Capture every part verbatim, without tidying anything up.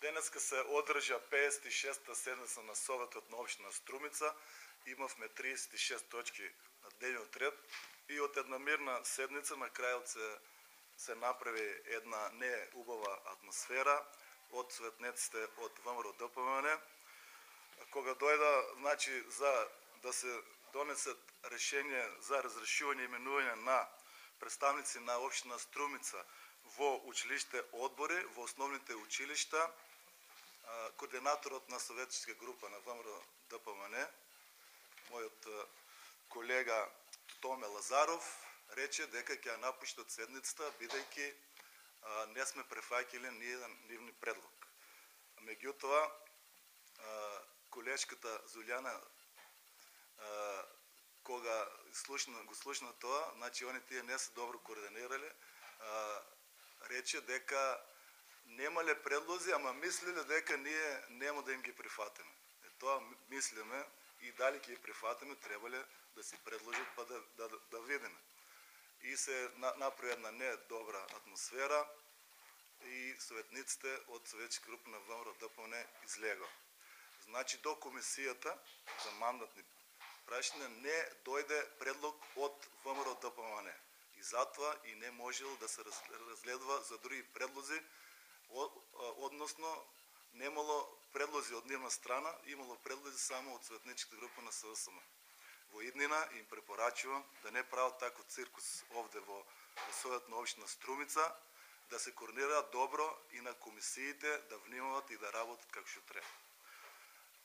Денеска се одржа пеесет и шеста седница на Советот на општина Струмица. Имавме триесет и шест точки на дневниот ред и од една мирна седница на крајот се, се направи една не убава атмосфера од светнеците од ВМРО-ДПМН. Кога дојда, значи, за да се донесат решение за разрешување и именување на представници на општина Струмица во училиште одбори, во основните училишта, координаторот на советчка група на ВМРО-ДПМН, мојот колега Томе Лазаров, рече дека ќе напуштат седницата, бидејќи не сме префаќали ниеден нивни предлог. Меѓутоа, колешката Зулјана, кога слушна, го слушна тоа, значи они тие не се добро координирале, рече дека немале предлози, ама мислеле дека ние нема да им ги прифатиме. Е, тоа мислиме и дали ќе ги прифатиме, требале да си предложат па да, да, да видиме. И се направи една не добра атмосфера и советниците од советчка група на ВМРО-ДПМН излега. Значи до комисијата за мандатни прашања не дојде предлог од ВМРО-ДПМН. И затоа и не можело да се разгледува за други предлози, односно немало предлози од нивна страна, имало предлози само од советничката група на СВСМ. Во иднина им препорачувам да не прават тако циркус овде во Совет на општина Струмица, да се координираат добро и на комисиите да внимават и да работат како што треба.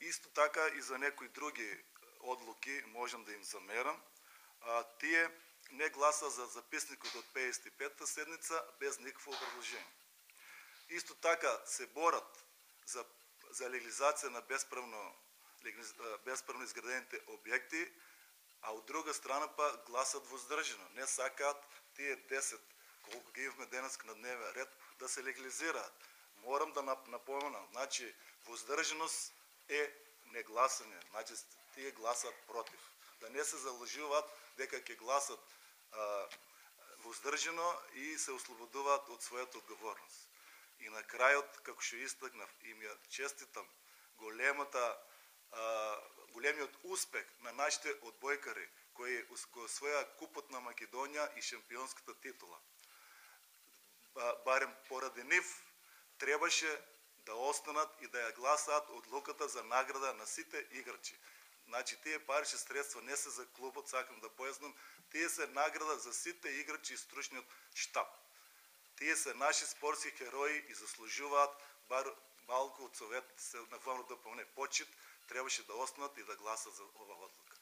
Исто така и за некои други одлуки можам да им замерам. А, тие не гласа за записникот од пеесет и петта седница без никакво образложение. Исто така се борат за, за легализација на безправно, безправно изградените објекти, а од друга страна па гласат воздржано. Не сакаат тие десет, колку ги имаме денеска на дневен ред, да се легализираат. Морам да напоменам, значи воздржаност е негласање, значи тие гласат против. Да не се залажуваат дека ќе гласат а, воздржано и се ослободуваат од својата одговорност. И на крајот, како што истакнав, им ја честитам големата, а, големиот успех на нашите одбојкари, кои го освоја купот на Македонија и шампионската титула. Барем поради нив требаше да останат и да ја гласаат одлуката за награда на сите играчи. Значи, тие парични средства не се за клубот, сакам да појаснам, тие се награда за сите играчи и стручниот штаб. Тие се наши спортски херои и заслужуваат бар малку од советите на ВМРО-ДПМН почит, требаше да останат и да гласат за ова одлука.